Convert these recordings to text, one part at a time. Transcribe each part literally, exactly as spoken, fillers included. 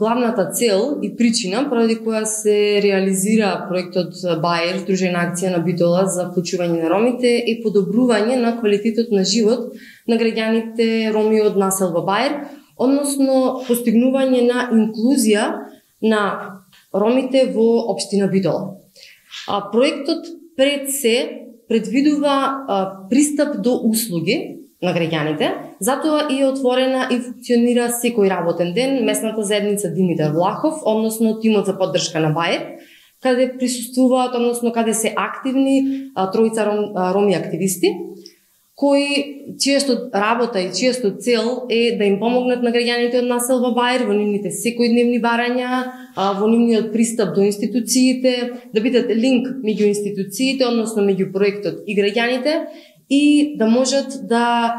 главната цел и причина поради која се реализира проектот Баер, Здружена акција на Битола за вклучување на ромите и подобрување на квалитетот на живот на граѓаните роми од населба Баер, односно постигнување на инклузија на ромите во општина Битола. А, проектот пред се предвидува а, пристап до услуги на граѓаните, затоа и е отворена и функционира секој работен ден местната заедница Димитар Влахов, односно тимот за поддршка на Баер, каде присуствуваат, односно каде се активни а, тројца ром, а, роми активисти, кои чијато работа и чијато цел е да им помогнат на граѓаните од населба Баер во нивните секојдневни барања, во нивниот пристап до институциите, да бидат линк меѓу институциите, односно меѓу проектот и граѓаните, и да можат да,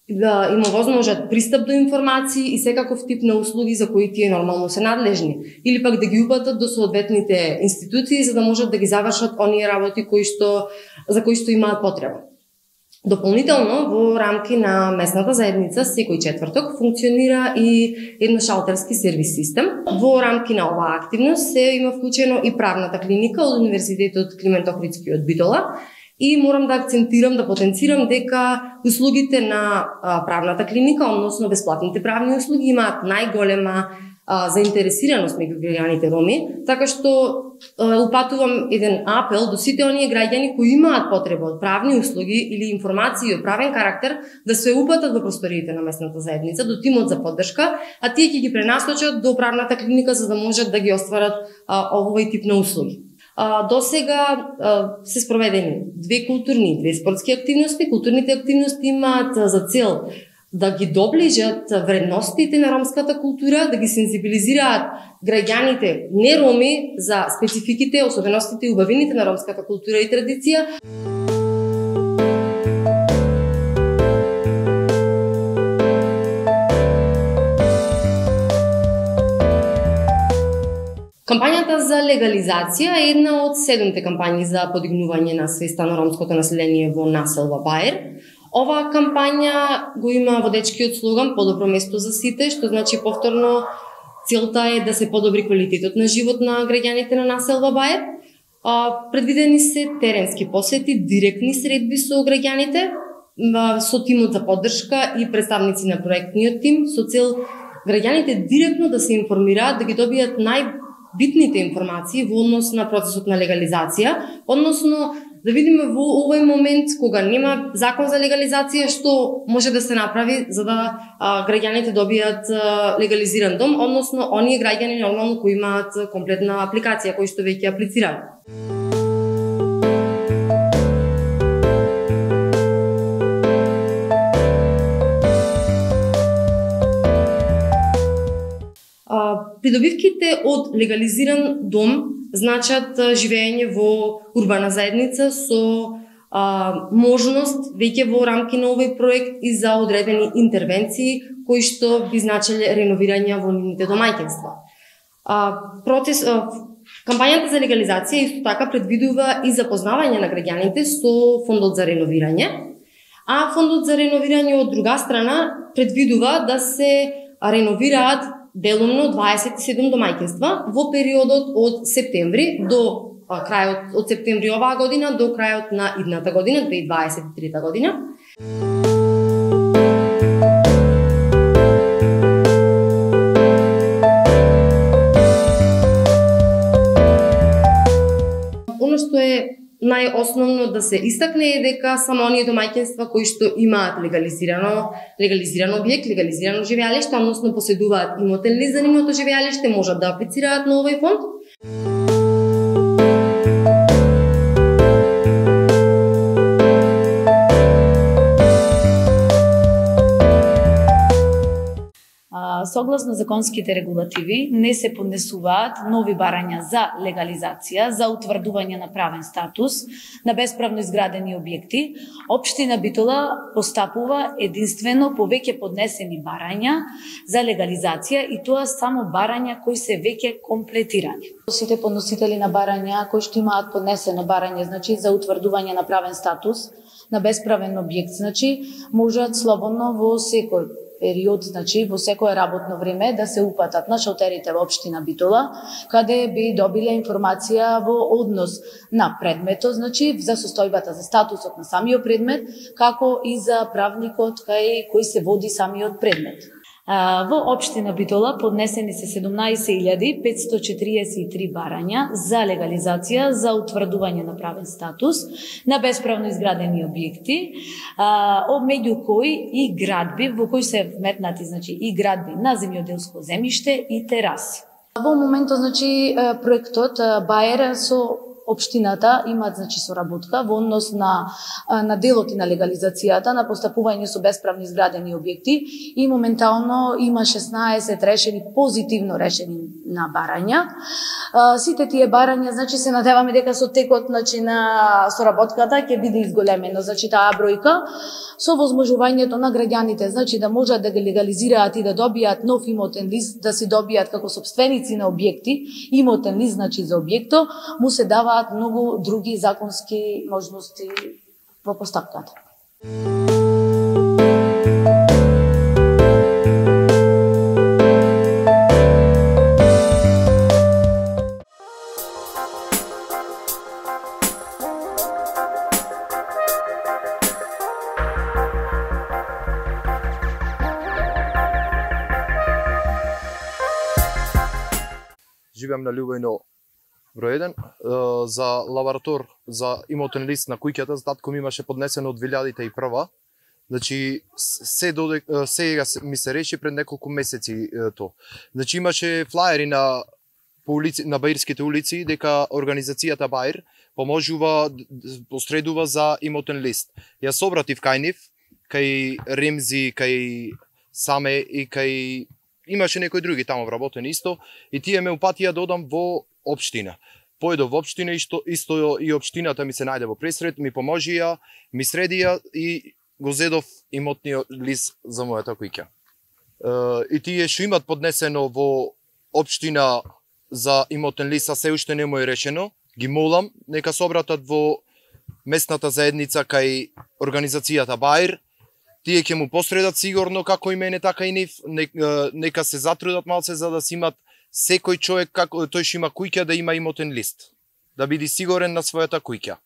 да има возможат пристап до информации и секаков тип на услуги за кои тие нормално се надлежни, или пак да ги упатат до соодветните институции за да можат да ги завршат оние работи кои што за кои што имаат потреба. Дополнително, во рамки на местната заедница, секој четврток функционира и едно шалтерски сервис систем. Во рамки на оваа активност се има вклучено и правната клиника од Универзитетот Климент Охридски од Битола. И морам да акцентирам, да потенцирам дека услугите на а, правната клиника, односно бесплатните правни услуги, имаат најголема а, заинтересираност меѓу граѓаните роми, така што а, упатувам еден апел до сите оние граѓани кои имаат потреба од правни услуги или информации од правен карактер да се упатат во просториите на местната заедница, до тимот за поддршка, а тие ќе ги пренасочат до правната клиника за да можат да ги остварат а, овој тип на услуги. А, до сега а, се спроведени две културни, две спортски активности. Културните активности имаат за цел да ги доближат вредностите на ромската култура, да ги сензибилизираат граѓаните не роми за спецификите, особеностите и убавините на ромската култура и традиција. Кампањата за легализација е една од седумте кампањи за подигнување на свеста на ромското население во населба Баер. Оваа кампања го има водечкиот слоган "Подобро место за сите", што значи повторно целта е да се подобри квалитетот на живот на граѓаните на населба Баер. Предвидени се теренски посети, директни средби со граѓаните, со тимот за поддршка и представници на проектниот тим, со цел граѓаните директно да се информираат, да ги добијат нај битните информации во однос на процесот на легализација, односно да видиме во овој момент кога нема закон за легализација што може да се направи за да а, граѓаните добијат а, легализиран дом, односно оние граѓани нормално кои имаат комплетна апликација кои што веќе аплицираат. Придобивките од легализиран дом значат живење во урбана заедница со а, можност веќе во рамки на овој проект и за одредени интервенции кои што би значеле реновирање во нивните домаќинства. А, процес а, кампањата за легализација исто така предвидува и запознавање на граѓаните со фондот за реновирање, а фондот за реновирање од друга страна предвидува да се реновираат делумно дваесет и седум домаќинства во периодот од септември до а, крајот од септември оваа година до крајот на идната година, две илјади дваесет и трета година. Оно што е најосновно да се истакне е дека само оние домаќинства кои што имаат легализирано легализиран објект, легализирано живеалиште, односно поседуваат имотен лист за нивното живеалиште, можат да аплицираат на овој фонд. Согласно законските регулативи, не се поднесуваат нови барања за легализација, за утврдување на правен статус на бесправно изградени објекти. Општина Битола постапува единствено по веќе поднесени барања за легализација и тоа само барања кои се веќе комплетирани. Сите подносители на барања кои што имаат поднесено барање, значи за утврдување на правен статус на бесправен објект, значи можат слободно во секој период, значи во секое работно време да се упатат на шалтерите во општина Битола, каде би добиле информација во однос на предметот, значи за состојбата, за статусот на самиот предмет, како и за правникот кај кој се води самиот предмет. Во општина Битола поднесени се седумнаесет илјади петстотини четириесет и три барања за легализација за утврдување на правен статус на бесправно изградени објекти, меѓу кои и градби во кои се вметнати, значи и градби на земјоделско земјиште и тераси. Во моментот, значи, проектот Баер со општината имаат, значи, соработка во однос на, на делот и на легализацијата, на постапување со бесправно изградени објекти и моментално има шеснаесет решени, позитивно решени на барања. Сите тие барања, значи, се надеваме дека со текот, значи, на соработката ќе биде изголемено, значи, таа бројка, со возможувањето на граѓаните, значи, да можат да ги легализираат и да добијат нов имотен лист, да си добијат како сопственици на објекти, имотен лист, значи, за објекто, му се дава многу други законски можности во постапката. Живеам на Љубојно број еден, за лаборатор за имотен лист на куќата, татко ми имаше поднесено од две илјади и прва. Значи се додек сега ми се реши пред неколку месеци то. Значи имаше флаери на по улици, на баирските улици дека организацијата Баир поможува, посредува за имотен лист. Јас обратив кај нив, кај Ремзи, кај Саме и кај имаше некои други таму вработени исто и тие ме упатија да одам во општина. Поедов во општина и што исто и општината ми се најде во пресред, ми поможија, ми средија и го зедов имотниот лист за мојата куќа. И тие што имат поднесено во општина за имотен лист, а се уште не му е решено, ги молам нека се обратат во местната заедница кај организацијата Баир. Тие ќе му посредат сигурно како и мене, така и нив. Нека се затрудат малце за да си имат секој човек, како тој што има куќа, да има имотен лист, да биде сигурен на својата куќа.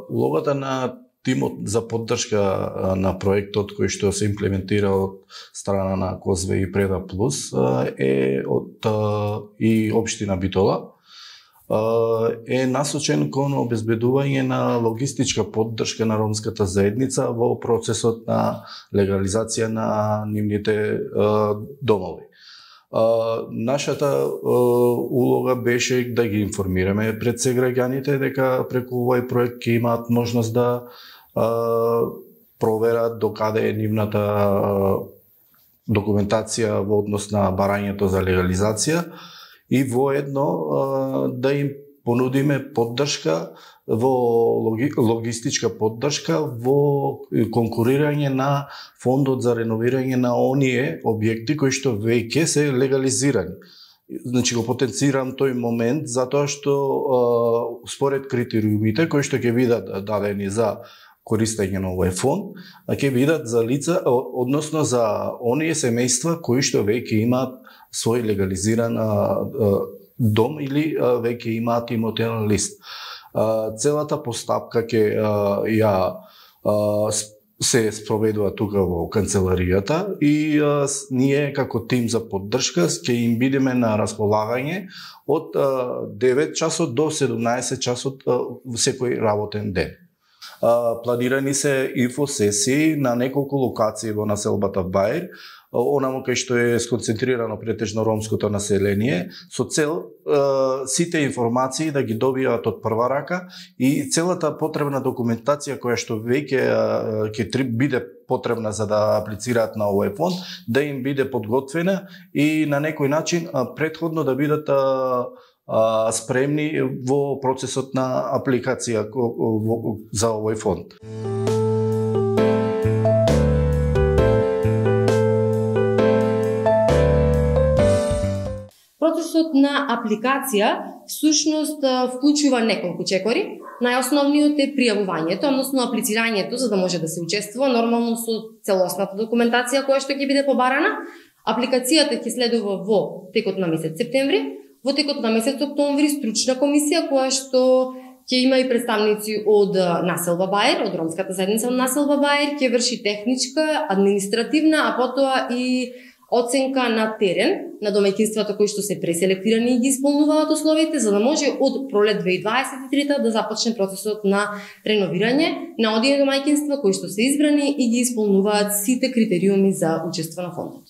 Улогата на тимот за поддршка на проектот кој што се имплементира од страна на Козве и Преда Плюс е од и општина Битола е насочен кон обезбедување на логистичка поддршка на ромската заедница во процесот на легализација на нивните домови. Uh, нашата uh, улога беше да ги информираме пред се граѓаните дека преку овој проект ќе имаат можност да uh, проверат докаде е нивната uh, документација во однос на барањето за легализација и воедно uh, да им понудиме поддршка во логи, логистичка поддршка во конкурирање на фондот за реновирање на оние објекти кои што веќе се легализирани. Значи го потенцирам тој момент затоа што е, според критериумите кои што ќе бидат дадени за користење на овој фонд, ќе бидат за лица, односно за оние семејства кои што веќе имаат свој легализиран дом или веќе имаат имотен лист. Целата постапка ќе ја се спроведува тука во канцеларијата и ние како тим за поддршка ќе им бидеме на располагање од девет часот до седумнаесет часот секој работен ден. Планирани се инфосесии на неколку локации во населбата Баир, онаму кај што е сконцентрирано претежно ромското население, со цел е, сите информации да ги добијат од прва рака и целата потребна документација која што веќе ќе биде потребна за да аплицираат на овој фонд, да им биде подготвена и на некој начин предходно да бидат а, спремни во процесот на апликација за овој фонд. Процесот на апликација всушност вклучува неколку чекори. Најосновниот е пријавувањето, односно аплицирањето за да може да се учествува нормално со целосната документација која што ќе биде побарана. Апликацијата ќе следува во текот на месец септември, во текот на месец октомври стручна комисија која што ќе има и представници од населба Бајер, од ромската заедница од населба Бајер, ќе врши техничка, административна, а потоа и оценка на терен на домаќинствата кои што се преселектирани и ги исполнуваат условите, за да може од пролет две илјади дваесет и трета да започне процесот на реновирање на одие домаќинства кои што се избрани и ги исполнуваат сите критериуми за учество на фондот.